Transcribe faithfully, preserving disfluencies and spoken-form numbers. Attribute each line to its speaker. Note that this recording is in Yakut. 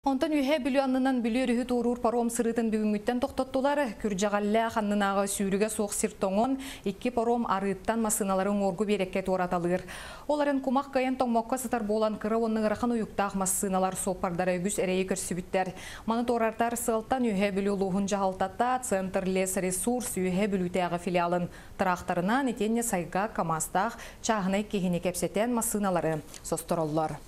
Speaker 1: Онтон Үөһээ Бүлүү аннынан Бүлүү өрүһү туоруур паром сырыытын бүгүҥҥүттэн тохтоттулар. Күрдьэҕэллээх аннынааҕы сүүрүгэ суох сир тоҥон, икки паром арыыттан массыыналары уҥуоргу биэрэккэ туораталыыр. Ол эрэн кумах кыайан тоҥмокко сытар буолан, кыра уонна ыарахан уйуктаах массыыналар суоппардара үгүс эрэйи көрсүбүттэр. Маны туоратар сыалтан Үөһээ Бүлүү улууһун дьаһалтата Центр лесресурс Үөһээ Бүлүүтээҕи филиалын тыраахтарынан итиэннэ Сайгак КАМАЗтаах чааһынай киһини кэпсэтэн массыыналары состороллор.